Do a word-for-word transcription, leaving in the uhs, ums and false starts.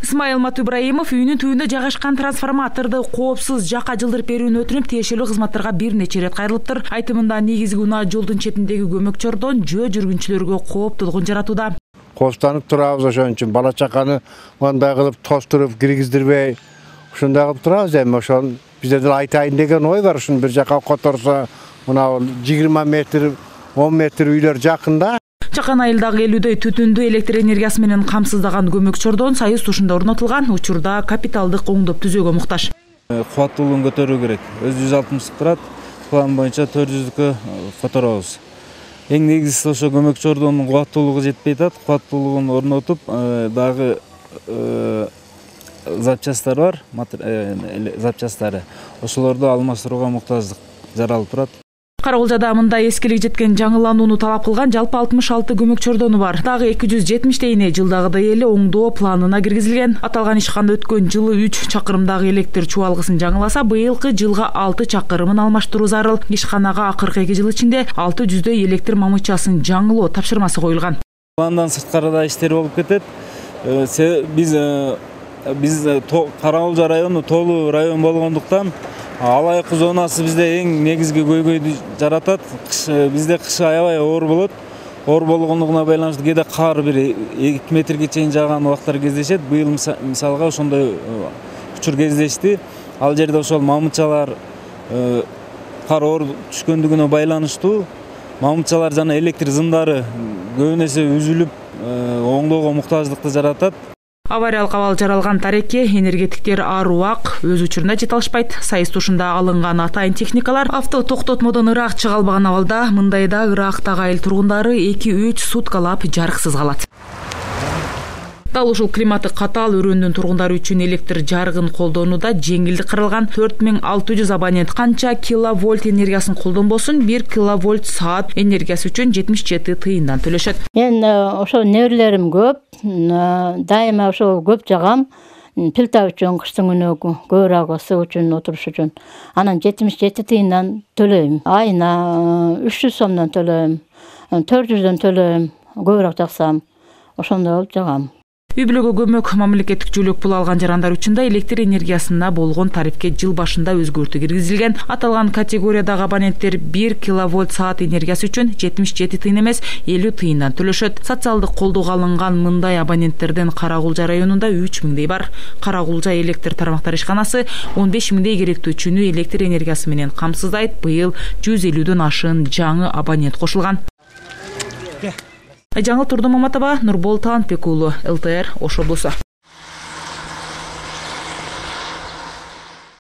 Исмаил Матыбраимов үйүнүн түбүндө жайгашкан трансформаторду коопсуз жакка жылдырып берүүнү өтүнүп, тиешелүү кызматтарга бир нече ирет кайрылыптыр. Айтымында негизги унаа жолдун четиндеги көмөкчөрдөн жөө жүргүнчүлөргө кооптуулугун жаратууда. Кооптонуп турабыз, ошон үчүн бала чаканы мындай кылып тостуруп киргиздирбей, ушундай кылып турабыз. Эми ошол бизде деле айтайын деген ой бар. Ушуну бир жакка которсо, мына жыйырма метр, он метр үйлөр жакында. Чакан айылдагы элүүдөй түтүндү электр энергиясы менен камсыздаган көмөкчөрдөн Союз тушунда орнотулган, учурда капиталдык оңдоп түзөөгө муктаж. Кубаттуулугун көтөрүү керек. Өзү жүз алтымыштык турат, план боюнча төрт жүздүккө которобуз. Эң негизгиси ошо көмөкчөрдүн кубаттуулугу жетпей атат. Кубаттуулугун орнотуп, дагы запчасттар бар, запчасттары. Ошолорду алмаштырууга муктаждык жаралып турат. Карагулжада мындай эскилик жеткен жаңыланууну талап кылган жалпы алтымыш алты көмөкчөрдөнү бар. Дагы эки жүз жетимиштейине жылдагыдай эле оңдоо планына киргизилген. Аталган ишкана өткөн жылы үч чакырымдагы электр чубалгысын жаңыласа, быйылкы жылга алты чакырымын алмаштыруу зарыл. Ишканага акыркы эки жыл ичинде алты жүздөй электр мамычасын жаңылоо тапшырмасы коюлган. Пландан сырткары да иштер болуп кетет. Биз биз Карагулжа району тоолуу район болгондуктан алайык зонасы бизде эң негизги көйгөйдү жаратат. Бизде кышы аябай оор болот. Оор болгондугуна байланыштуу кээде кар бир эки метрге чейин жааган убактар кездешет. Быйыл мисалга ошондой учур кездешти. Ал жерде ошол мамычалар кар оор түшкөндүгүнө байланыштуу мамычалар жана электр зымдары көбүнесе үзүлүп, оңдоого муктаждыкты жаратат. Авариялык абал жаралган тареке энергетиктер ар убак өз учурунда жете алышпайт. Союз тушунда алынган атайын техникалар авто токтотмодон ыраак чыга албаган абалда мындайда ыраактагы айыл тургундары эки үч суткалап жарыксыз калат. Дал ушул климаты катаал өрөөндүн тургундары үчүн электр жарыгын колдонууда жеңилдик каралган. төрт миң алты жүз абонент канча киловольт энергиясын колдонбосун, бир киловольт саат энергиясы үчүн жетимиш жети тыйындан төлөшөт. Мен ошо неберелерим көп, дайыма ошо көп жагам. Плита үчүн кыштын күнү көбүрөөк ысык үчүн отуруш үчүн. Анан жетимиш жети тыйындан төлөйм. Айына үч жүз сомдон төлөйм, төрт жүздөн төлөйм. Көбүрөөк жаксам, ошондой болуп жагам. Үй бүлөгө көмөк мамлекеттик жүлөк пул алган жарандар үчүн да электр энергиясына болгон тарифке жыл башында өзгөртүү киргизилген. Аталган категориядагы абоненттер бир киловольт саат энергиясы үчүн жетимиш жети тыйын эмес, элүү тыйындан төлөшөт. Социалдык колдоого алынган мындай абоненттерден Карагулжа районунда үч миңдей бар. Карагулжа электр тармактар ишканасы он беш миңдей керектөөчүнү электр энергиясы менен камсыздайт. Быйыл жүз элүүдөн ашыын жаңы абонент кошулган. Жаңыл Турдун Маматова, Нурбол Таанбек уулу, эл тэ эр Ош облусу.